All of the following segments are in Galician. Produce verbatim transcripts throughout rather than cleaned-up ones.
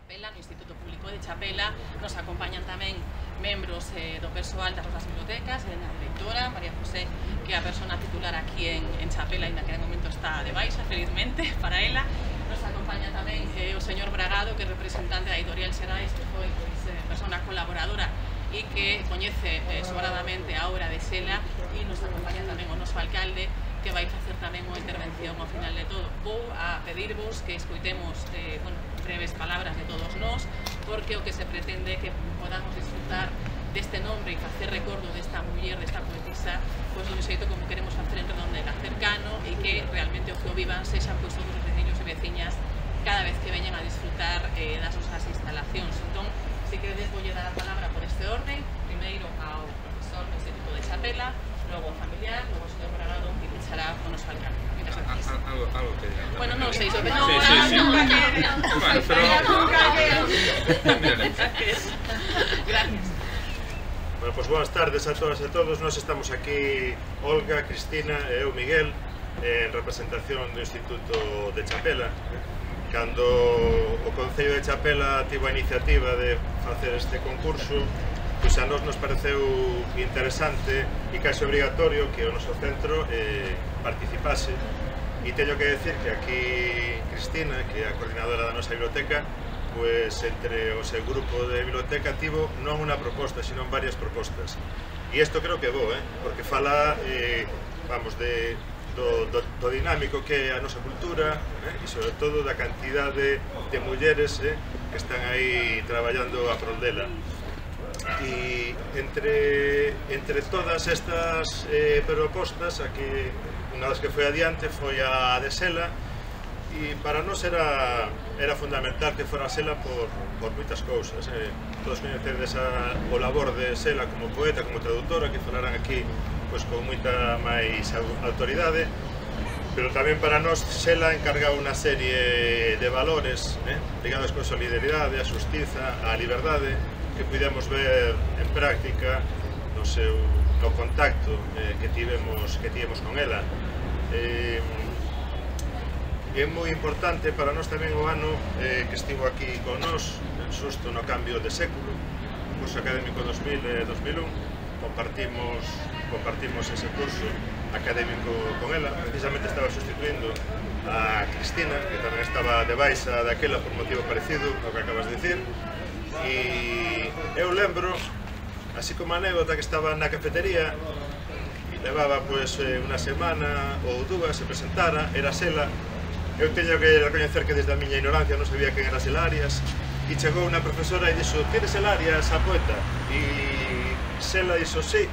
Chapela, no Instituto Público de Chapela. Nos acompañan tamén membros eh, do persoal das nosas bibliotecas, a directora, María José, que é a persona titular aquí en, en Chapela, ainda que de momento está de baixa, felizmente, para ela. Nos acompaña tamén eh, o señor Bragado, que é representante da Editorial Xerais, que foi pois, eh, persona colaboradora e que coñece eh, sobradamente a obra de Xela, e nos acompaña tamén o noso alcalde, que vai facer tamén unha intervención ao final de todo. Vou a pedirvos que escoitemos eh, bueno, breves palabras de todos nós, porque o que se pretende é que podamos disfrutar deste nombre e facer recordo desta muller, desta poetisa, pois dun xeito como queremos facer en Redondela, cercano, e que realmente o que o vivan sexan pois todos os veciños e veciñas cada vez que veñen a disfrutar eh, das nosas instalacións. Entón, se queredes, voulle dar a palabra por este orden, primeiro ao profesor do Instituto de Chapela, logo ao familiar, logo ao señor Bragado, e pechará o noso alcalde. Muchas gracias. Algo, algo que diga. Bueno, non sei, sobre non, sí, sí, sí. nunca quede. Bueno, pero... Gracias. Bueno, pois boas tardes a todas e a todos. Nós estamos aquí, Olga, Cristina e eu, Miguel, en representación do Instituto de Chapela. Cando o Concello de Chapela tivo a iniciativa de facer este concurso, pois a nós nos pareceu interesante e case obrigatorio que o noso centro eh, participase. E teño que decir que aquí Cristina, que é a coordinadora da nosa biblioteca, pois entre o seu grupo de biblioteca tivo non unha proposta, sino varias propostas. E isto creo que é bo, eh? Porque fala, eh, vamos, de, do, do, do dinámico que é a nosa cultura, eh? E sobre todo da cantidade de mulleres eh, que están aí traballando a prol dela. E entre, entre todas estas eh, propostas, a que unha das que foi adiante foi a de Xela, e para nós era, era fundamental que fora Xela por, por moitas cousas. Eh. Todos coñecedes a, o labor de Xela como poeta, como traductora, que falaran aquí pues, con moita máis autoridade, pero tamén para nós Xela encargaba unha serie de valores eh, ligados con a solidaridade, a xustiza, a liberdade, que pudemos ver en práctica no seu no contacto eh, que tivemos que tivemos con ela. Eh, é moi importante para nós tamén o ano eh, que estivo aquí con nós, xusto no cambio de século, o curso académico dos mil e dos mil un, compartimos compartimos ese curso académico con ela. Precisamente estaba sustituindo a Cristina, que tamén estaba de baixa daquela por motivo parecido ao que acabas de dicir. E eu lembro, así como anécdota, que estaba na cafetería e levaba pois unha semana ou dúas, se presentara, era Xela. Eu teño que recoñecer que desde a miña ignorancia non sabía quen era Xela Arias, e chegou unha profesora e dixo: "Tienes Xela Arias, a poeta?" E Xela dixo: "Sí",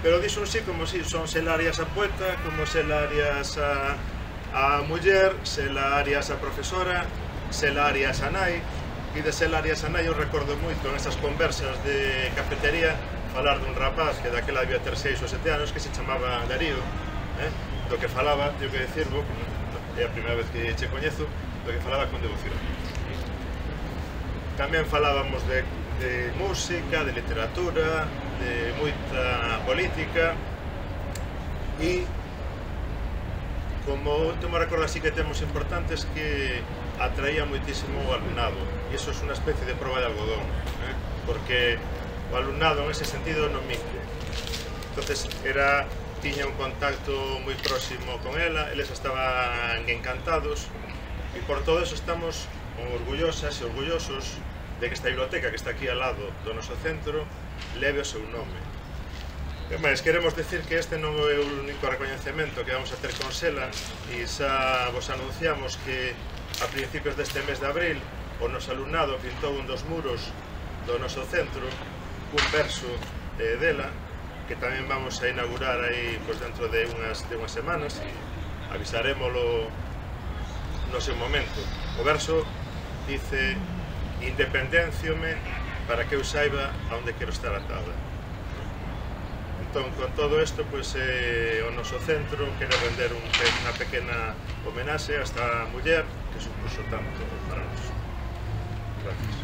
pero dixo un sí como si, son Xela Arias a poeta, como Xela Arias a, a muller, Xela Arias a profesora, Xela Arias a nai. E de Xela Arias a nai eu recordo moito en esas conversas de cafetería falar dun rapaz que daquela debía ter seis ou sete anos, que se chamaba Darío, eh? do que falaba, teño que decirlo, é a primeira vez que che coñezo, do que falaba con devoción. Tamén falábamos de, de música, de literatura, de moita política, e como último recordo así que temos importantes que atraía moitísimo o alumnado, e iso é unha especie de proba de algodón, eh? porque o alumnado en ese sentido non minque. Entonces era, tiña un contacto moi próximo con ela, eles estaban encantados, e por todo eso estamos orgullosas e orgullosos de que esta biblioteca que está aquí ao lado do noso centro leve o seu nome. Mas queremos decir que este non é o único recoñecemento que vamos a ter con Xela, e xa vos anunciamos que a principios deste mes de abril o noso alumnado pintou un dos muros do noso centro un verso eh, dela, que tamén vamos a inaugurar aí pues, dentro de unhas, de unhas semanas. Avisarémolo no seu momento. O verso dice: "Independenciome para que eu saiba a onde quero estar atada". Entón, con todo isto, pues, eh, o noso centro quere render un, unha pequena homenaxe a esta muller que supuso tanto para nós. Gracias.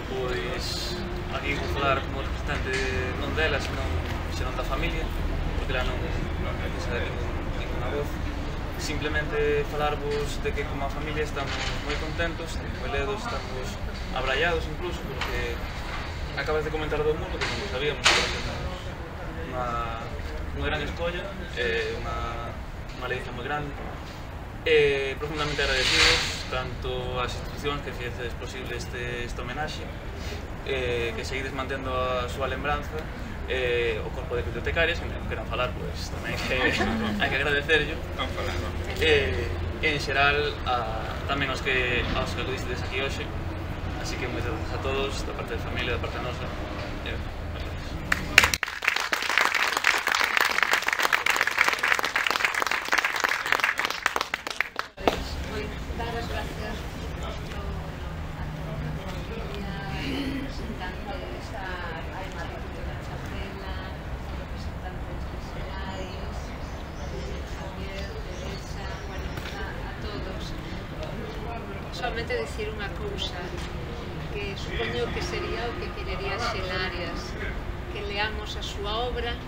Pois, aquí vou falar como importante non dela, senón, senón da familia, porque lá non, non precisa de ningún, ninguna voz. Simplemente falarvos de que como a familia estamos moi contentos, moi ledos, estamos abrallados incluso, porque acabas de comentar do mundo, que non sabíamos que era unha, unha gran escolla, eh, unha, unha leiza moi grande. Eh, profundamente agradecidos tanto ás institucións que fixeces posible este, este homenaxe, eh, que seguides mantendo a súa lembranza, eh, o corpo de bibliotecarias, que non queran falar, pois tamén que hai que agradecerlo. Eh, en xeral, a, tamén aos que, aos que acudistes aquí hoxe, así que moitas gracias a todos, da parte da familia, da parte nosa. Eh, solamente decir unha cousa que supoño que sería o que querería Xelarias, que leamos a súa obra,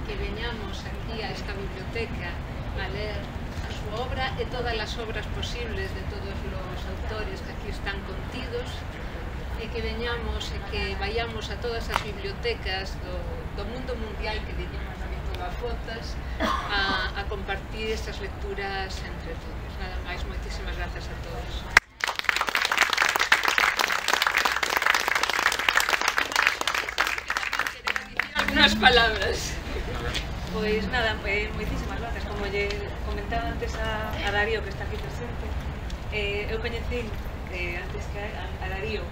que veñamos aquí a esta biblioteca a ler a súa obra e todas as obras posibles de todos os autores que aquí están contidos, e que veñamos e que vayamos a todas as bibliotecas do, do mundo mundial, que diríamos aquí todas fotas, a, a compartir estas lecturas entre todos. Nada máis, moitísimas grazas a todos. Algunas palabras. Pois nada, eh, moitísimas grazas. Como lle comentaba antes a, a Darío, que está aquí presente, eh, eu coñecín eh, antes que a, a Darío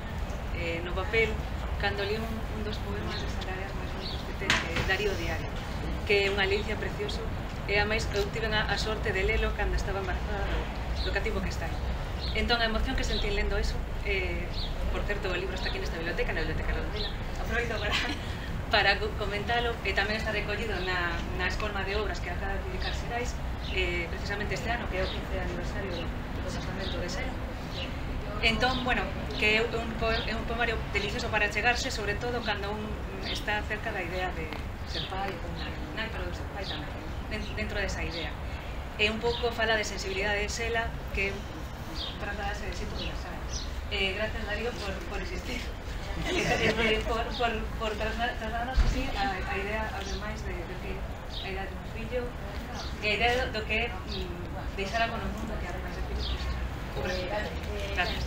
eh, no papel, cando li un, un dos poemas de Xelarias máis bonitos que ten, eh, Darío Diario, que é unha licia precioso, e a máis eu tive a, a sorte de lelo cando estaba embarazada do, do cativo que está aí. Entón, a emoción que sentí lendo eso, eh, por certo, o libro está aquí nesta biblioteca, na biblioteca Rodela, aproveito para... para comentalo, e tamén está recollido na, na escolma de obras que acaba de publicar Xerais, eh, precisamente este ano, que é o quince aniversario do, do casamento de Xela. Entón, bueno, que é un, é un poemario delicioso para chegarse, sobre todo cando un está cerca da idea de ser pai, ou nai, nai, pero de ser pai tamén, dentro desa idea. E un pouco fala de sensibilidade de Xela, que trata de ser universal. Eh, gracias, Darío, por, por existir. Eh, por, por, por trasladarnos así a, a idea aos demais de, de que a idea de un fillo, e a idea do que mm, deixar algo no mundo que ademais de fillo, pues, gracias.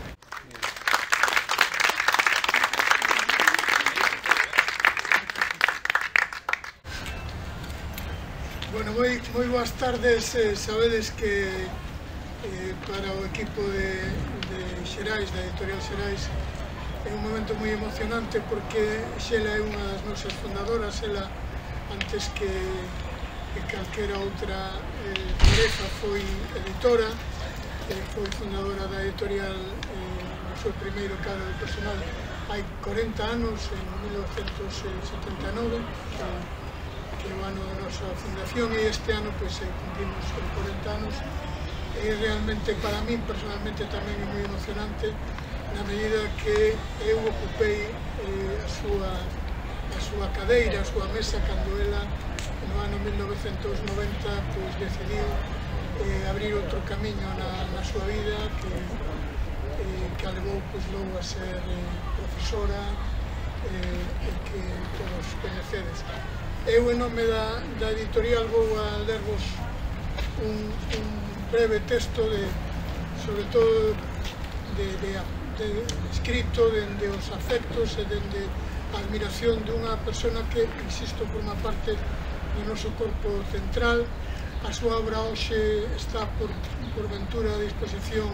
Bueno, moi, moi boas tardes. Eh, sabedes que eh, para o equipo de, de Xerais, da editorial Xerais, é un momento moi emocionante porque Xela é unha das nosas fundadoras. Xela, antes que, que calquera outra eh, tarefa, foi editora, eh, foi fundadora da editorial eh, no seu primeiro cadro de personal hai corenta anos, en mil novecentos setenta e nove, eh, que é o ano da nosa fundación, e este ano pues, eh, cumplimos corenta anos. E realmente para mí personalmente tamén é moi emocionante, na medida que eu ocupei eh, a, súa, a súa cadeira, a súa mesa, cando ela no ano mil novecentos noventa pues, decidiu eh, abrir outro camiño na, na súa vida, que, eh, que a levou pues, logo a ser eh, profesora, eh, e que todos coñecedes. Eu, en nome da, da editorial, vou a lervos un, un breve texto de, sobre todo de, de De, escrito dende os afectos e dende a admiración dunha persona que, insisto, forma parte do noso corpo central. A súa obra hoxe está por, por ventura a disposición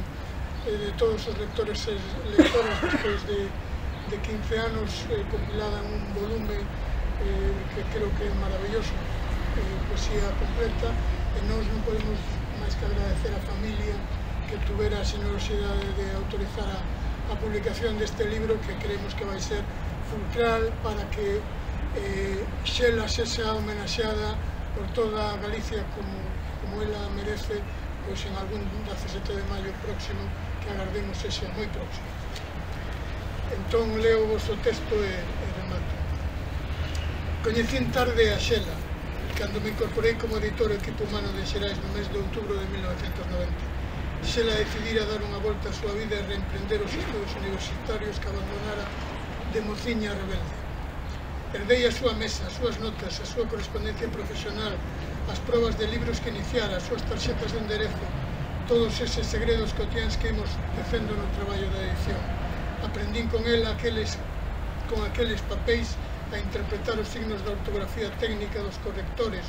eh, de todos os lectores e lectoras despois de, de quince anos, eh, compilada en un volume eh, que creo que é maravilloso, eh, poesía completa, e nós non podemos máis que agradecer a familia que tuvera a xenerosidade de autorizar a a publicación deste libro, que creemos que vai ser fulcral para que eh, Xela sexa homenaxeada por toda a Galicia como, como ela merece, pois en algún dezasete de maio próximo, que agardemos sexa moi próximo. Entón leo vos o texto e, e remato. Coñecín tarde a Xela, cando me incorporei como editor ao equipo humano de Xerais no mes de outubro de mil novecentos noventa. Xela decidira dar unha volta á súa vida e reemprender os estudos universitarios que abandonara de mociña rebelde. Herdei a súa mesa, as súas notas, a súa correspondencia profesional, as probas de libros que iniciara, as súas tarxetas de enderezo, todos eses segredos cotiáns que imos tecendo no traballo da edición. Aprendín con ela aqueles, con aqueles papéis a interpretar os signos da ortografía técnica dos correctores,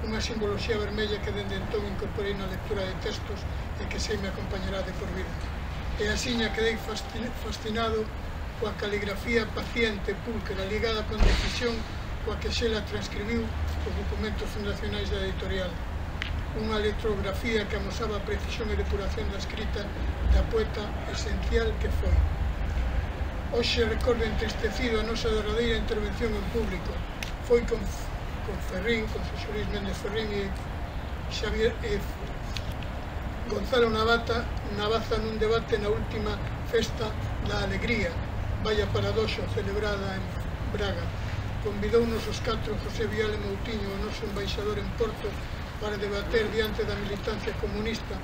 unha simboloxía vermella que dende entón incorporei na lectura de textos e que sei me acompañará de por vida. E asiña quedei fascinado coa caligrafía paciente, púlquera, ligada con decisión coa que Xela transcribiu os documentos fundacionais da editorial. Unha electrografía que amosaba a precisión e depuración da escrita da poeta esencial que foi. Hoxe recordo entristecido a nosa derradeira intervención en público. Foi con, con Ferrín, con Xosé Luis Méndez Ferrín e Xavier e Gonzalo Navata, Navaza nun debate na última festa da alegría, vaya paradoxo, celebrada en Braga. Convidounos os catro José Viale Moutiño, o noso embaixador en Porto, para debater diante da militancia comunista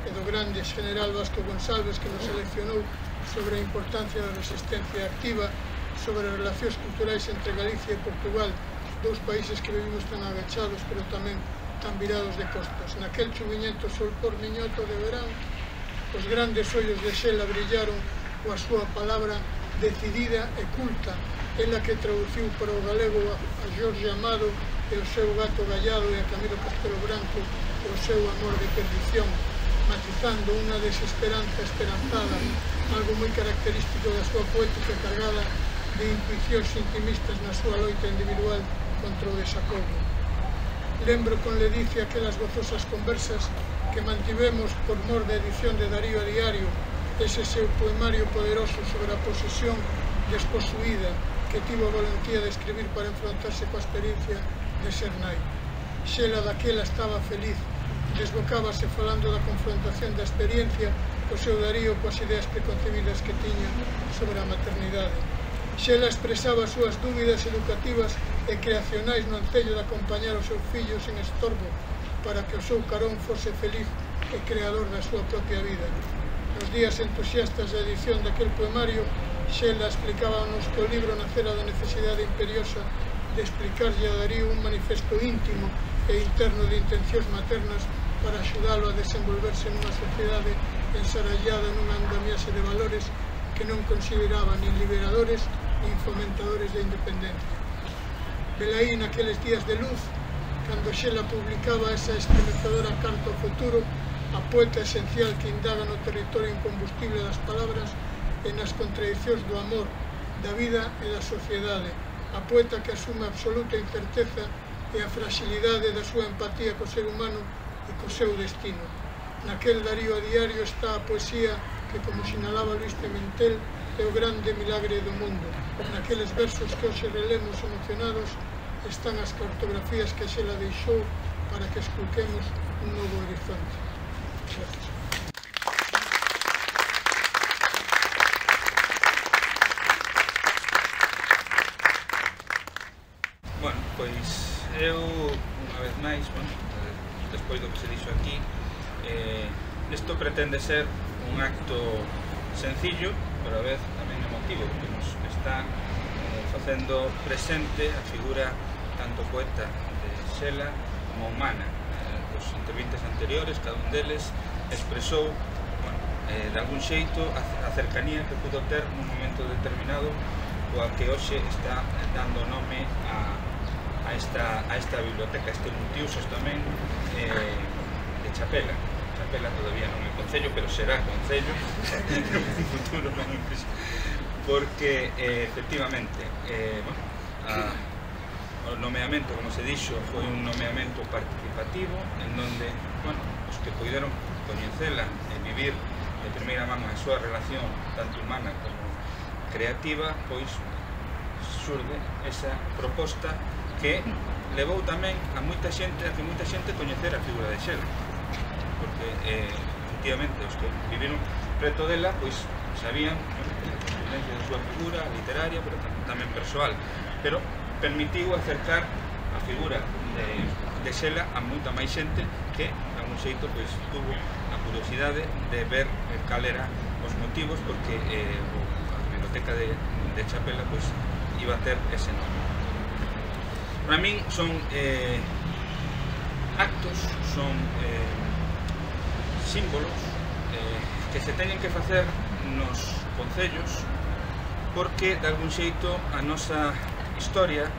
e do grande general Vasco Gonçalves, que nos seleccionou sobre a importancia da resistencia activa, sobre as relacións culturais entre Galicia e Portugal, dous países que vivimos tan agachados, pero tamén tan virados de costas. Naquel chuviñento sol por miñoto de verán, os grandes ollos de Xela brillaron coa súa palabra decidida e culta, ela que traduciu para o galego a Jorge Amado e o seu gato Gallado e a Camilo Castelo Branco e o seu amor de perdición, matizando unha desesperanza esperanzada, algo moi característico da súa poética cargada de intuicións intimistas na súa loita individual contra o desacordo. Lembro con ledicia aquelas gozosas conversas que mantivemos por mor da edición de Darío a Diario, ese seu poemario poderoso sobre a posesión desposuída que tivo a valentía de escribir para enfrontarse coa experiencia de ser nai. Xela daquela estaba feliz, desbocábase falando da confrontación da experiencia co seu Darío coas ideas preconcebidas que tiña sobre a maternidade. Xela expresaba as súas dúbidas educativas e creacionais no ancello de acompañar os seus fillos en estorbo para que o seu carón fose feliz e creador da súa propia vida. Nos días entusiastas da edición daquel poemario, Xela explicábanos que o libro nacera da necesidade imperiosa de explicarlle a Darío un manifesto íntimo e interno de intencións maternas para axudalo a desenvolverse nunha sociedade ensarallada nunha andamiaxe de valores que non consideraba nin liberadores nin fomentadores da independencia. Velaí naqueles días de luz, cando Xela publicaba esa estremecedora carta ao futuro, a poeta esencial que indaga no territorio incombustible das palabras e nas contradicións do amor, da vida e da sociedade, a poeta que asume a absoluta incerteza e a fragilidade da súa empatía co ser humano e co seu destino. Naquel Darío a Diario está a poesía que, como sinalaba Luis Pimentel, é o grande milagre do mundo. Naqueles versos que hoxe relemos emocionados están as cartografías que Xela deixou para que esculquemos un novo horizonte. Gracias. Bueno, pois eu, unha vez máis, bueno, despois do que se dixo aquí, eh, isto pretende ser un acto sencillo, pero a vez tamén emotivo, porque nos está eh, facendo presente a figura tanto poeta de Xela como humana. Eh, os intervintes anteriores, cada un deles expresou, bueno, eh, de algún xeito a, a cercanía que pudo ter nun momento determinado coa que hoxe está dando nome a, a, esta, a esta biblioteca, este multiusos tamén eh, de Chapela. Chapela todavía non é concello, pero será concello no futuro, non é prisa, porque eh, efectivamente eh, bueno, a, o nomeamento, como se dixo, foi un nomeamento participativo en donde, bueno, os que puderon coñecela e vivir de primeira mano a súa relación tanto humana como creativa, pois surde esa proposta que levou tamén a moita xente a que moita xente coñecera a figura de Xela, porque eh, efectivamente os que viviron preto dela pois sabían, bueno, a contundencia da súa figura literaria, pero tamén persoal, pero permitiu acercar a figura de, de Xela a moita máis xente que, de algún xeito, pois, tuvo a curiosidade de ver cal era os motivos porque eh, a biblioteca de, de Chapela pois, iba a ter ese nome. Para min son eh, actos, son eh, símbolos eh, que se teñen que facer nos concellos porque, de algún xeito, a nosa historia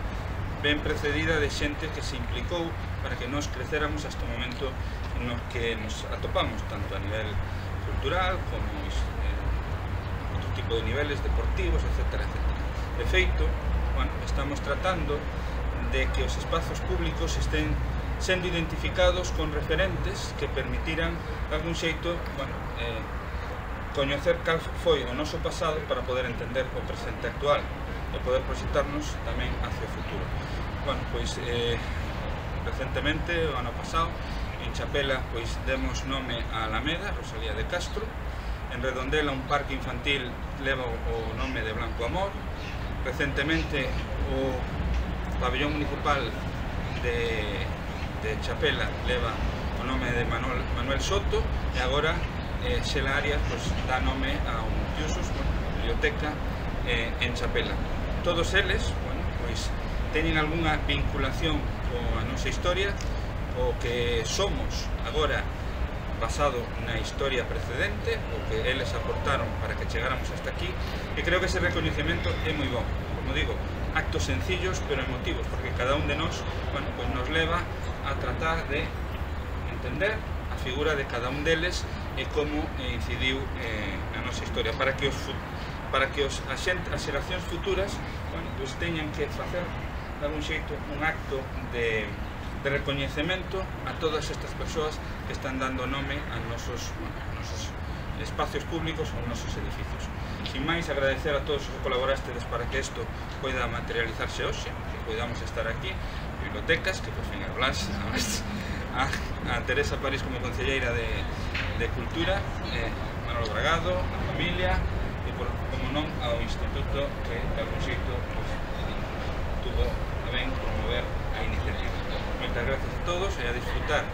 ben precedida de xente que se implicou para que nos creceramos hasta o momento no que nos atopamos, tanto a nivel cultural como eh, outro tipo de niveles deportivos, etcétera, etcétera. De feito, bueno, estamos tratando de que os espazos públicos estén sendo identificados con referentes que permitiran, de algún xeito, bueno, eh, coñecer cal foi o noso pasado para poder entender o presente actual e poder proxectarnos tamén hacia o futuro. Bueno, pois, eh, recentemente, o ano pasado, en Chapela, pois, demos nome a Alameda, Rosalía de Castro. En Redondela, un parque infantil leva o nome de Blanco Amor. Recentemente, o pabellón municipal de, de Chapela leva o nome de Manuel, Manuel Soto, e agora eh, Xela Arias pues, dá nome a un multiusos, bueno, biblioteca eh, en Chapela. Todos eles, bueno, pois, teñen algunha vinculación coa nosa historia, o que somos agora basado na historia precedente, o que eles aportaron para que chegáramos hasta aquí, e creo que ese recoñecemento é moi bon. Como digo, actos sencillos pero emotivos, porque cada un de nós, bueno, pues nos leva a tratar de entender a figura de cada un deles e como incidiu eh, na nosa historia, para que os para que os, as, xent, as xeracións futuras, bueno, pues teñan que facer de algún xeito un acto de, de recoñecemento a todas estas persoas que están dando nome a nosos, bueno, a nosos espacios públicos ou nosos edificios. Sin máis, agradecer a todos os que colaborastedes para que isto poida materializarse hoxe, que podamos estar aquí, bibliotecas, que por fin a Blas, a, a Teresa París como concelleira de, de Cultura, eh, Manolo Bragado, a familia, e por, como non, ao Instituto que, de algún xeito, pues, tuvo a ben promover a iniciativa. Moitas gracias a todos e a disfrutar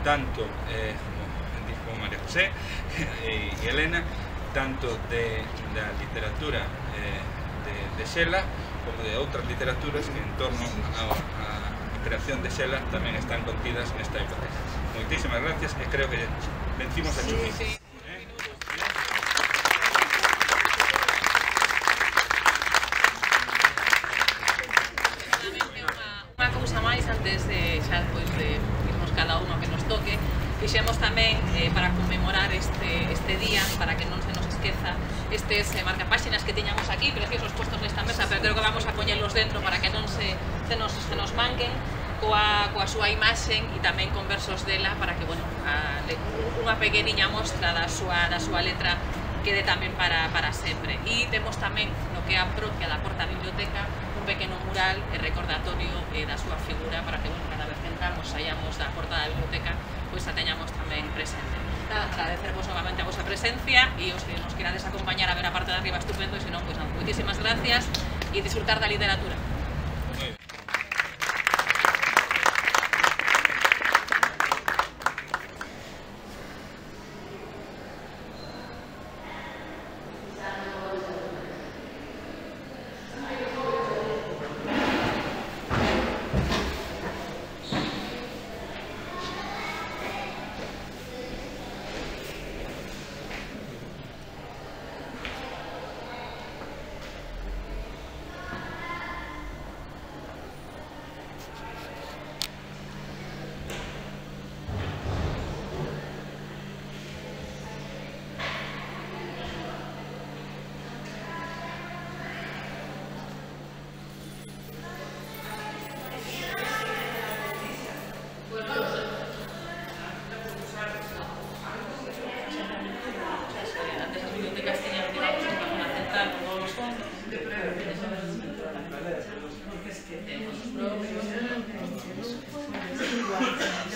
tanto, eh, como dijo María José e, e Elena, tanto de da literatura eh, de, de Xela como de outras literaturas que en torno á creación de Xela tamén están contidas nesta biblioteca. Moitísimas gracias e creo que vencimos a Chumi. Sí, sí. Unha cousa máis antes de xa depois de irnos cada uno que nos toque, fixemos tamén eh, para conmemorar este, este día, para que non se nos esqueza estes eh, marcapáxinas que tiñamos aquí, preciosos postos nesta mesa, pero creo que vamos a poñelos dentro para que non se, se, nos, se nos manquen coa, coa súa imaxen e tamén con versos dela para que, bueno, a, unha pequeniña mostra da súa, da súa letra quede tamén para, para sempre. E temos tamén, no que é a propia da Porta Biblioteca, un pequeno mural e recordatorio eh, da súa figura para que, bueno, cada vez que entramos, saíamos da Porta da Biblioteca, pois a teñamos tamén presente. Nada, agradecervos novamente a vosa presencia e os que nos querades acompañar a ver a parte de arriba estupendo, e senón, pois non, moitísimas gracias e disfrutar da literatura.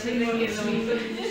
Sí,